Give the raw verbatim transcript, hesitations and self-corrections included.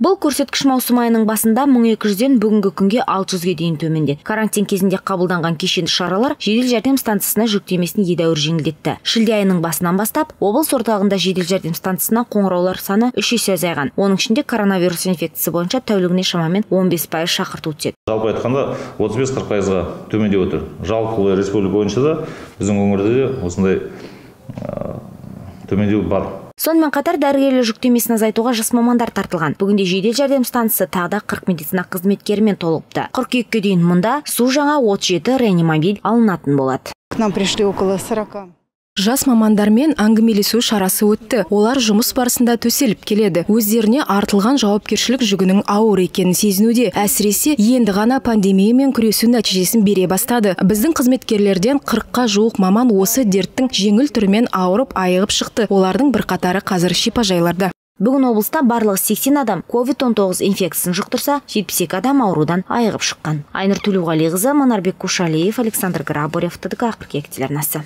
Бұл көрсеткіш маусым айының басында мың екі жүзден бүгінгі күнге алты жүзге дейін төмендеді. Карантин кезінде қабылданған кешенді шаралар жедел жәрдем станциясына жүктемесін едәуір жеңілдетті. Шілде айының басынан бастап облыс орталығында жедел жәрдем станциясына қоңыраулар саны үш есе азайған. Оның ішінде коронавирус инфекциясы бойынша тәулігіне шамамен он бес пайыз шақырту түседі. Жалпы айтқанда отыз бес қырық пайызға төмендеп отыр. Жалпы республика бойынша да біздің өңірде де осындай төмендеу бар. Сонымен қатар дәрігерлер жүктемесін азайтуға жас мамандар тартылған. Бүгінде жедел жәрдем станциясы тағы да қырық медицина қызметкерімен толыпты. қыркүйекке дейін мұнда су жаңа отыз жеті реанимобиль алынатын болады. К нам пришли около сорока. Жас мамандармен әңгімелесу шарасы өтті. Олар жұмыс барысында төселіп келеді. Өздеріне артылған жауапкершілік жүгінің ауыр екенін сезінуде. Әсіресе енді ғана пандемиямен күресу нәтижесін бере бастады. Біздің қызметкерлерден қырыққа жуық маман осы дерттің жеңіл түрімен ауырып айығып шықты. Олардың бірқатары қазір шипажайларда. Бүгін облыста барлығы сексен адам ковид он тоғыз инфекциясын жұқтырса, жетпіс екі адам аурудан айығып шыққан. Айнұр Төлеуғалиқызы, Манарбек Кушалиев, Александр Грабарев, ТДК қыркүйек телеарнасы.